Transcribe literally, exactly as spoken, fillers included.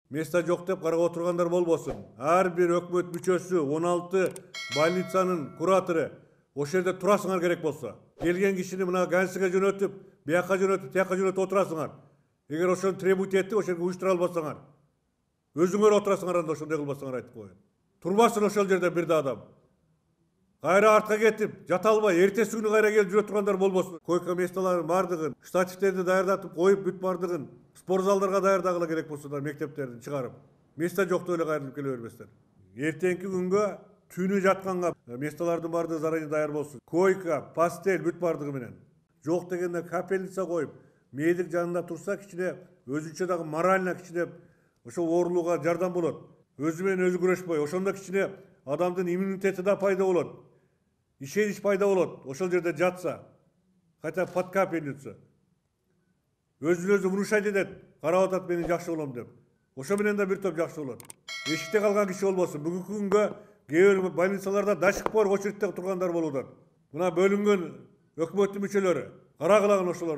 Места жок деп карап отургандар болбосун. Ар бир өкмөт мүчөсү, он алты больницанын куратору ошол жерде турасыңар керек болсо. Келген кишини мына Ганьсиге жөнөтүп, бияка жөнөтүп, тияка жөнөтүп отурасыңар. Эгер ошону требовать этип, ошол жерге уюштура албасаңар, өзүңөр отурасыңар, анда ошондой кылбасаңар айтып коеюн. Турбасын ошол жерде бир да адам. Кайра артка кетип, жата албай, эртеси күнү кайра келип жүрө тургандар болбосун. Койка месталарын бардыгын, штативтерди даярдатып коюп бүт бардыгын спортзалдарга даярдагыла керек болсо да мектептердин чыгарып. Места жок деп эле кайрылып келе бербестер. Эртеңки күнгө түнү жатканга месталардын бардыгы заранее даяр болсун. Койка, постель бүт бардыгы менен. Жок дегенде капельница коюп, медик жанында турса кичине өзүнчө дагы морально кичине ошо оорулууга жардам болот. Өзү менен өзү күрөшпөй, ошондо кичине адамдын иммунитети да пайда болот. Ишенич пайда болот. Ошол жерде жатса, хотя под капельницу. Өзүн өзү внушать этет, карап атат мен жакшы болом деп. Ошо менен да бир топ жакшы болот. Эшикте калган киши болбосун. Бүгүнкү күнгө кээ бир больницаларда до сих пор очередте тургандар болууда. Мына бөлүнгөн өкмөттүн мүчөлөрү карагылагын ошолор.